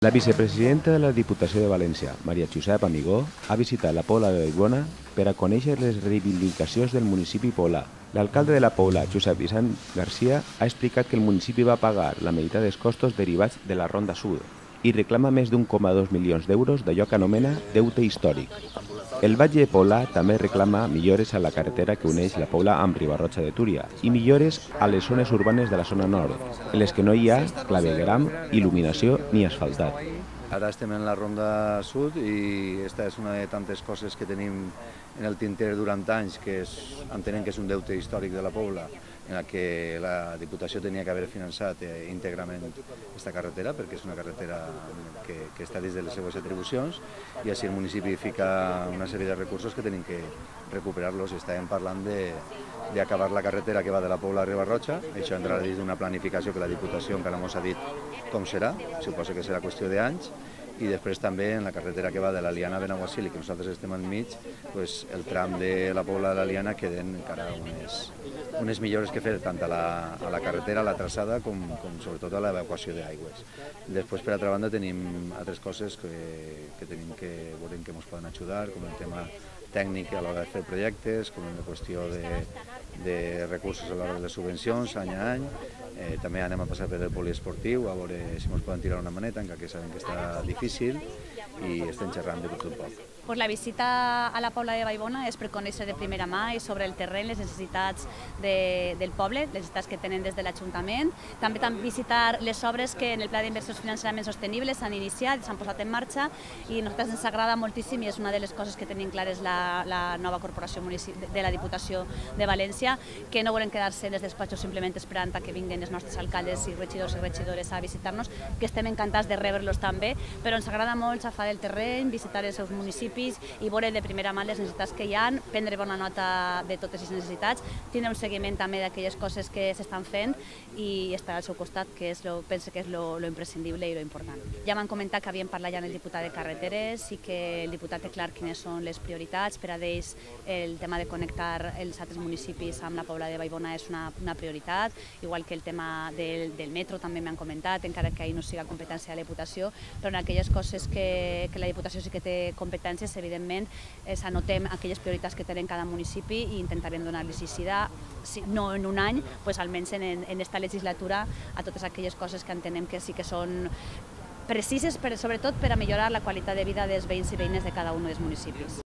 La vicepresidenta de la Diputació de València, Maria Josep Amigó, ha visitat la Pobla de Vallbona per a conèixer les reivindicacions del municipi poblà. L'alcalde de la Pobla, Josep Vicent Garcia, ha explicat que el municipi va pagar la meitat dels costos derivats de la Ronda Sud i reclama més d'1,2 milions d'euros d'allò que anomena deute històric. El Batlle Poblà també reclama millores a la carretera que uneix la Pobla amb Riba-roja de Túria i millores a les zones urbanes de la zona nord, en les que no hi ha clavegueram, il·luminació ni asfaltat. Ara estem en la Ronda Sud i aquesta és una de tantes coses que tenim en el tinter durant anys, que entenem que és un deute històric de la Pobla, en la que la Diputació tenia que haver finançat íntegrament aquesta carretera, perquè és una carretera que està dins de les seues atribucions, i així el municipi fica una sèrie de recursos que tenim que recuperar-los. Estàvem parlant d'acabar la carretera que va de la Pobla a Riba-roja. Això entrarà dins d'una planificació que la Diputació encara no ens ha dit com serà, suposo que serà qüestió d'anys, i després també en la carretera que va de l'Aliana a Benaguasil, i que nosaltres estem enmig, el tram de la Pobla de l'Aliana queden encara unes millores que fer tant a la carretera, a la traçada, com sobretot a l'evacuació d'aigües. Després, per altra banda, tenim altres coses que tenim que veure que ens poden ajudar, com el tema tècnic a l'hora de fer projectes, com la qüestió de recursos a l'hora de les subvencions, any a any. També anem a passar per el poliesportiu, a veure si ens poden tirar una maneta, encara que sabem que està difícil, i estem xerrant de tot un poc. La visita a la Pobla de Vallbona és per conèixer de primera mà i sobre el terreny les necessitats del poble, les necessitats que tenen des de l'Ajuntament. També visitar les obres que en el Pla d'Inversions Financerament Sostenibles s'han iniciat, s'han posat en marxa, i a nosaltres ens agrada moltíssim i és una de les coses que tenim clares la nova corporació de la Diputació de València, que no volen quedar-se des despatxos simplement esperant que vinguin els nostres alcaldes i regidors i regidores a visitar-nos, que estem encantats de rebre-los també, però ens agrada molt xafar el terreny, visitar els seus municipis i veure de primera mà les necessitats que hi ha, prendre bona nota de totes les necessitats, tindre un seguiment també d'aquelles coses que s'estan fent i estar al seu costat, que penso que és lo imprescindible i lo important. Ja m'han comentat que havien parlat ja amb el diputat de carreteres i que el diputat té clar quines són les prioritats. Per a ells el tema de connectar els altres municipis amb la Pobla de Vallbona és una prioritat, igual que el tema del metro també m'han comentat, encara que ahir no siga competència de la Diputació, però en aquelles coses que la Diputació sí que té competències, evidentment anotem aquelles prioritats que tenen cada municipi i intentarem donar-los aixida, no en un any, almenys en aquesta legislatura, a totes aquelles coses que entenem que sí que són precises, sobretot per a millorar la qualitat de vida dels veïns i veïnes de cada un dels municipis.